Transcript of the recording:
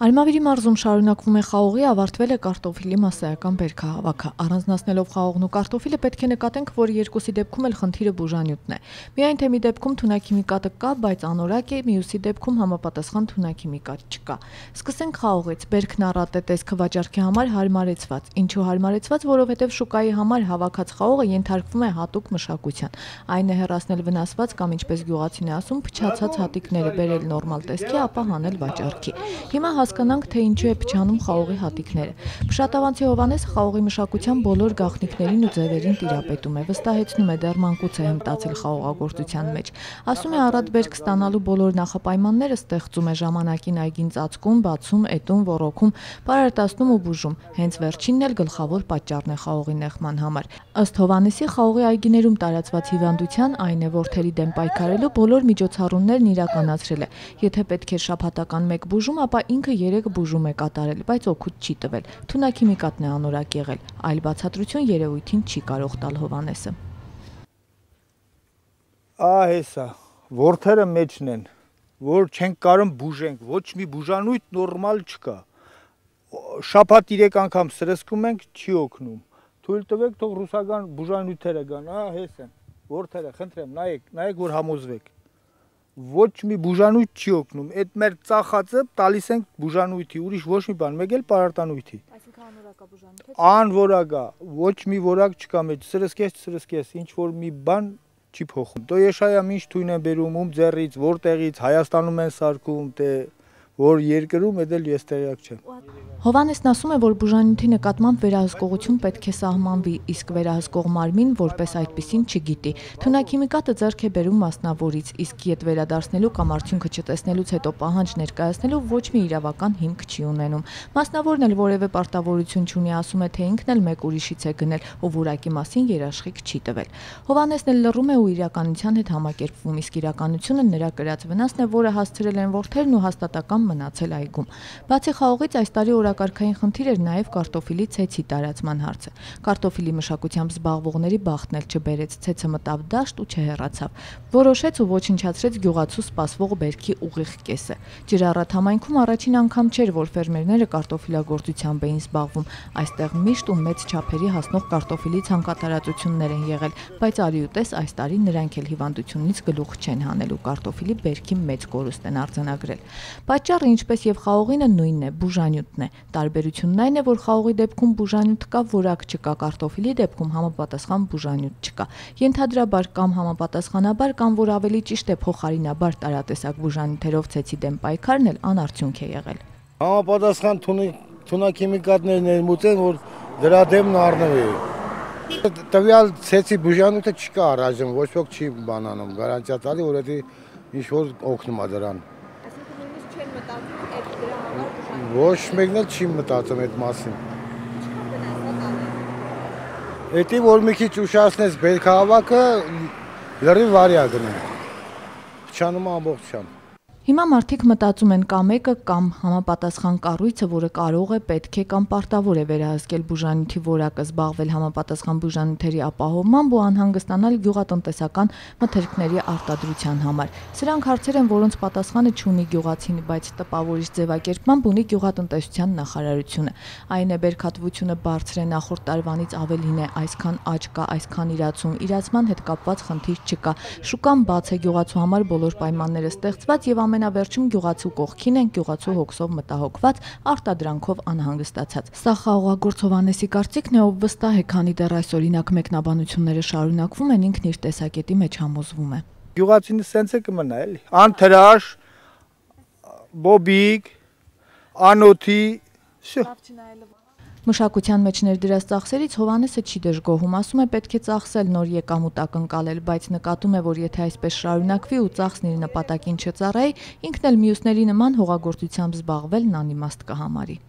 Արմավիրի մարզում շարունակվում է խաղողի, ավարտվել է կարտոֆիլի մասսայական բերքահավաքը։ Առանձնացնելով խաղողն ու կարտոֆիլը պետք է նկատենք, որ երկուսի դեպքում էլ խնդիրը բուժանյութն է։ Միայն թե մի դեպքում թունաքիմիկատը կա, բայց անորակ է, մյուսի դեպքում համապատասխան թունաքիմիկատ չկա։ Սկսենք խաղողից։ Բերքն առատ է տեսքը վաճառքի համար հարմարեցված։ Ինչու հարմարեցված, որովհետև շուկայի համար հավաքած խաղողը ենթարկվում է հատուկ մշակության։ Այն է հեռացնել վնասված կամ ինչպես գյուղացին է ասում, փչացած հատիկները բերել նորմալ տեսքի, ապա հանել վաճառքի։ Հիմա հասկանանք, թե ինչու է փչանում խաղողի հատիկները։ Փշատավանցի Հովհաննեսը խաղողի մշակության բոլոր գաղտնիքներին ու ձևերին տիրապետում է, վստահեցնում է, դեռ մանկուց է հմտացել խաղողագործության մեջ։ Ասում է, առատ բերք ստանալու բոլոր նախապայմանները ստեղծում է, ժամանակին այգին ծածկում, բացում, էտում, ոռոգում, պարարտացնում ու բուժում։ Հենց վերջինն էլ գլխավոր պատճառն է խաղողի նեղման համար։ Ըստ Հովհաննեսի, խաղողի այգիներում տարածված հիվանդության, այն է ворթերի դեմ պայքարելու բոլոր միջոցառումներն իրականացրել է։ Եթե պետք է շաբաթական մեկ բուժում, ապա ինքը 3 բուժում է կատարել, բայց օգուտ չի տվել։ Թունաքիմիկատն է անորակ եղել։ Այլ բացատրություն երևույթին չի կարող տալ Հովհաննեսը։ Հեսա, ворթերը մեջն են, որ չենք կարող բուժենք, ոչ մի բուժանույթ նորմալ չկա։ Շաբաթ 3 անգամ սրսկում ենք, չի օգնում։ Թույլ տվեք, թող ռուսական բուժանյութերը գան, հես են, ворթերը, խնդրեմ, նայեք, որ համոզվեք։ Ոչ մի բուժանույթ չի օգնում, այդ մեր ծախածը տալիս ենք բուժանույթի, ուրիշ ոչ մի բան, մեկ էլ պարարտանույթի։ Այսինքն անորակա բուժանույթ է։ Անորակա, ոչ մի որակ չկա մեջ, սրսկես, ինչ որ մի բան չի փոխում։ Դո եշայամ ինչ թույն են բերում, ում ձեռից, որտեղից, Հայաստանում են սարքում, թե որ երկրում էլ ես տեղյակ չեմ։ Հովհաննեսն ասում է, որ բուժանյութի նկատմամբ վերահսկողություն պետք է սահմանվի, իսկ վերահսկող մարմին որպես այդպիսին չգիտի։ Թունաքիմիկատը ձեռք է բերում մասնավորից, իսկ ետ վերադարձնելու կամ արդյունքը չտեսնելուց հետո պահանջ ներկայացնելու ոչ մի իրավական հիմք չի ունենում։ Մասնավորն էլ որևէ պարտավորություն չունի, ասում է, թե ինքն էլ մեկ ուրիշից է գնել, ով որակի մասին երաշխիք չի տվել։ Հովհաննեսն էլ լռում է ու իրականության հետ համակերպվում, իսկ իրականությունը նրա կրած վնասն է, որը հասցրել են ворթերն ու հաստատական մնացել այգում։ Բացի խաղողից այս տարի օրակարգային խնդիր էր նաև կարտոֆիլի ցեցի տարածման հարցը։ Կարտոֆիլի մշակությամբ զբաղվողների բախտն էլ չբերեց, ցեցը մտավ դաշտ ու չհեռացավ։ Որոշեց ու ոչնչացրեց գյուղացու սպասվող բերքի ուղիղ կեսը։ Ջրառատ համայնքում առաջին անգամ չէր, որ ֆերմերները կարտոֆիլագործությամբ էին զբաղվում։ Այստեղ միշտ ու մեծ չափերի հասնող կարտոֆիլի ցանկատարածություններ են եղել, բայց արի ու տես այս տարի նրանք էլ հիվանդությունից գլուխ չեն հանելու, կարտոֆիլի բերքի մեծ կորուստ են արձանագրել։ Պատճառը, ինչպես եւ խաղողինը, նույնն է, բուժանյութն է։ Տարբերությունն այն է, որ խաղողի դեպքում բուժանյութ կա, որակ չկա, կարտոֆիլի դեպքում համապատասխան բուժանյութ չկա։ Ենթադրաբար կամ համապատասխանաբար, կամ որ ավելի ճիշտ է փոխարինաբար տարատեսակ բուժանյութերով ցեցի դեմ պայքարն էլ անարդյունք է եղել։ Համապատասխան թունաքիմիկատներ ներմուծեն, որ դրա դեմն առնվի։ Տվյալ ցեցի բուժանյութը չկա առայժմ, ոչ ոք չի բանանում, գարանտիա տալի, որ դա ինչ որ օգնում է դրան։ Ոչ մեկն էլ չի մտածում այդ մասին։ Էդի որ մի քիչ ուշացնես բերքահավաքը, լրիվ վարյա գնա։ Փչանում է ամբողջությամբ։ Հիմա մարդիկ մտածում են կամ մեկը կամ համապատասխան կառույցը, որը կարող է, պետք է կամ պարտավոր է վերահսկել բուժանյութի որակը, զբաղվել համապատասխան բուժանյութերի ապահովմամբ ու անհանգստանալ գյուղատնտեսական մթերքների արտադրության համար։ Սրանք հարցեր են, որոնց պատասխանը չունի գյուղացին, բայց տպավորիչ ձևակերպմամբ ունի գյուղատնտեսության նախարարությունը։ Այն է, բերքատվությունը բարձր է, նախորդ տարվանից ավելին է, այսքան աճ կա, այսքան իրացում, իրացման հետ կապված խնդիր չկա։ Շուկան բաց է, գյուղացու համար բոլոր պայմանները ստեղծված եւ ամենավերջում գյուղացու կողքին են, գյուղացու հոգսով մտահոգված, արտադրանքով անհանգստացած։ Սա խաղողագործ Հովհաննեսի կարծիքն է, ով վստահ է, քանի դեռ այս օրինակ մեկնաբանությունները շարունակվում են, ինքն իր տեսակետի մեջ համոզվում է։ Գյուղացին սենց է կմնա էլի։ Անթրաշ, բոբիկ, անոթի, Մշակության մեջ ներդրած ծախսերից Հովհաննեսը չի դժգոհում, ասում է, պետք է ծախսել, նոր եկամուտ ակնկալել, բայց նկատում է, որ եթե այսպես շարունակվի ու ծախսն իր նպատակին չծառայի, ինքն էլ մյուսների նման հողագործությամբ զբաղվելն անիմաստ կհամարի։